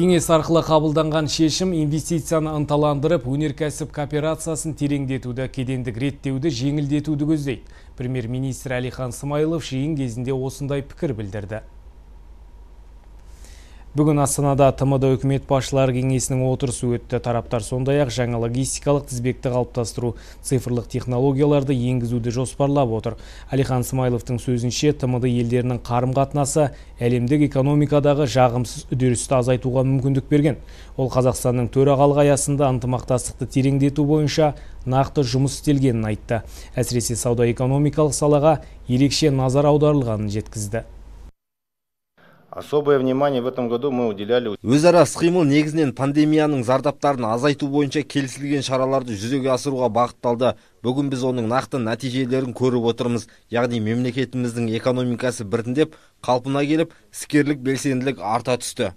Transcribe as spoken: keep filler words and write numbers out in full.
Кеңес арқылы қабылданған шешім инвестицияны ынталандырып, өнеркәсіп кооперациясын тереңдетуді, кедендік реттеуді жеңілдетуді көздейді. Премьер-министр Әлихан Смайылов жиын кезінде осындай пікір білдірді. Бүгін Астанада ТМД үкімет басшылары кеңесінің отырысы өтті. Тараптар сондай-ақ жаңа логистикалық тізбекті қалыптастыру, цифрлық технологияларды енгізуді жоспарлап отыр. Әлихан Смайыловтың сөзінше, ТМД елдерінің қарым-қатынасы әлемдік экономикадағы жағымсыз үдерісті азайтуға мүмкіндік берген. Ол Қазақстанның төрағалық аясында ынтымақтастықты тереңдету бойынша нақты жұмыс істелгенін айтты. Әсіресе сауда-экономикалық салаға ерекше назар аударылғанын жеткізді. Особое внимание в этом году мы уделяли. Өзара іс-қимыл негізінен пандемияның зардаптарын азайту бойынша келісілген шараларды жүзеге асыруға бағытталды. Бүгін біз оның нақты нәтижелерін көріп отырмыз. Яғни мемлекетіміздің экономикасы біртіндеп қалпына келіп, іскерлік белсенділік арта түсті.